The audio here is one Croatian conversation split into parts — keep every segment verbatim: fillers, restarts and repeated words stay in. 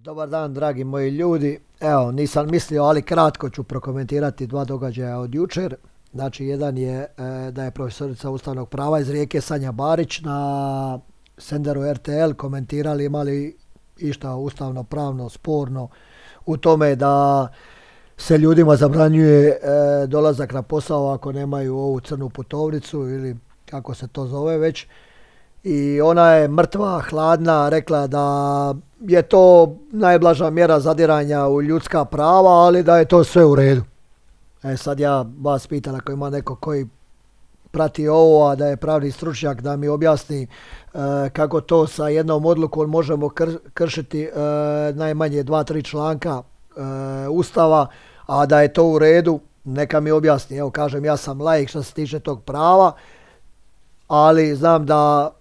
Dobar dan, dragi moji ljudi. Evo, nisam mislio, ali kratko ću prokomentirati dva događaja od jučer. Znači, jedan je e, da je profesorica ustavnog prava iz Rijeke Sanja Barić na senderu R T L komentirali imali išta ustavno pravno sporno u tome da se ljudima zabranjuje e, dolazak na posao ako nemaju ovu crnu putovnicu ili kako se to zove već. I ona je mrtva, hladna, rekla da je to najblaža mjera zadiranja u ljudska prava, ali da je to sve u redu. E sad ja vas pitam ako ima neko koji prati ovo, a da je pravni stručnjak, da mi objasni e, kako to sa jednom odlukom možemo kr kršiti e, najmanje dva, tri članka e, Ustava, a da je to u redu, neka mi objasni. Evo kažem, ja sam laik što se tiče tog prava, ali znam da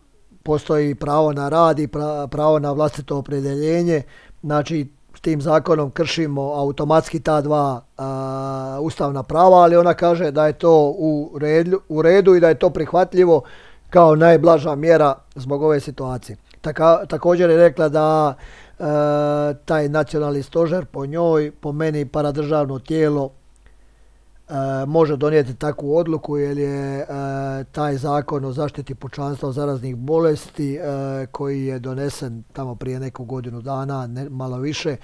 postoji pravo na rad i pravo na vlastito opredjeljenje. Znači, s tim zakonom kršimo automatski ta dva a, ustavna prava, ali ona kaže da je to u redu, u redu i da je to prihvatljivo kao najblaža mjera zbog ove situacije. Taka, također je rekla da a, taj nacionalni stožer po njoj, po meni paradržavno tijelo, E, može donijeti takvu odluku jer je e, taj zakon o zaštiti pučanstva od zaraznih bolesti e, koji je donesen tamo prije neku godinu dana, ne, malo više,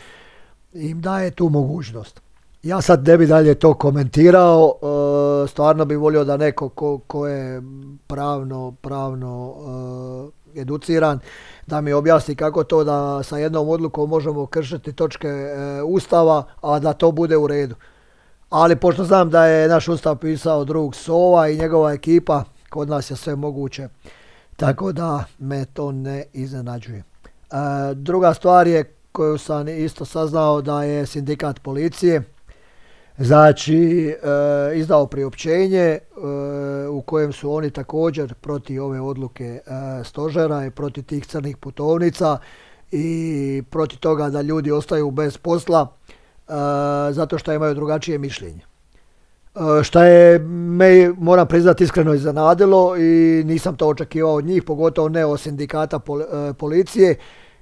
im daje tu mogućnost. Ja sad ne bi dalje to komentirao, e, stvarno bi volio da neko ko, ko je pravno, pravno e, educiran, da mi objasni kako to da sa jednom odlukom možemo kršiti točke e, Ustava, a da to bude u redu. Ali pošto znam da je naš Ustav pisao drug Sova i njegova ekipa, kod nas je sve moguće, tako da me to ne iznenađuje. E, druga stvar je koju sam isto saznao da je sindikat policije znači e, izdao priopćenje e, u kojem su oni također protiv ove odluke e, stožera i protiv tih crnih putovnica i protiv toga da ljudi ostaju bez posla. Uh, zato što imaju drugačije mišljenje. Uh, šta je me, moram priznati, iskreno iznenadilo i nisam to očekivao od njih, pogotovo ne od sindikata pol, uh, policije,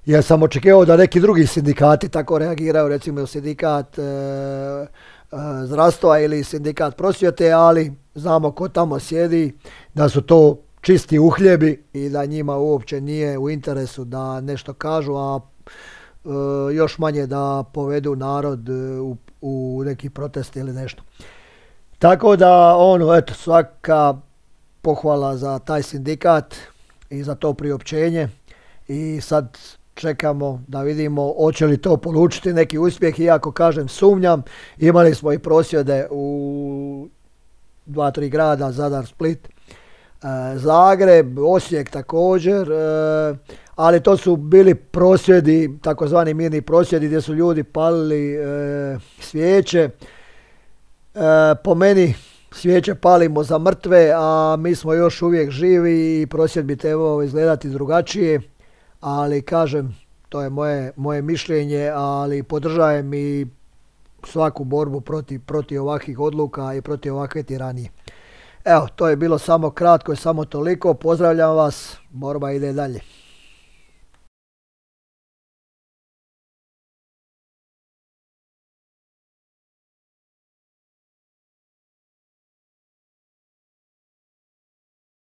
jer sam očekivao da neki drugi sindikati tako reagiraju, recimo sindikat uh, uh, zdravstva ili sindikat prosvjete, ali znamo ko tamo sjedi, da su to čisti uhljebi i da njima uopće nije u interesu da nešto kažu, a Uh, još manje da povedu narod uh, u, u neki protest ili nešto. Tako da, ono, eto, svaka pohvala za taj sindikat i za to priopćenje i sad čekamo da vidimo hoće li to polučiti neki uspjeh, iako kažem sumnjam. Imali smo i prosvjede u dva, tri grada, Zadar, Split, uh, Zagreb, Osijek također, uh, ali to su bili prosvjedi, takozvani mirni prosvjedi gdje su ljudi palili e, svijeće. E, po meni svijeće palimo za mrtve, a mi smo još uvijek živi i prosvjed bi trebao izgledati drugačije, ali kažem, to je moje, moje mišljenje, ali podržajem i svaku borbu protiv, protiv ovakvih odluka i protiv ovakve tiranije. Evo, to je bilo samo kratko i samo toliko. Pozdravljam vas, borba ide dalje.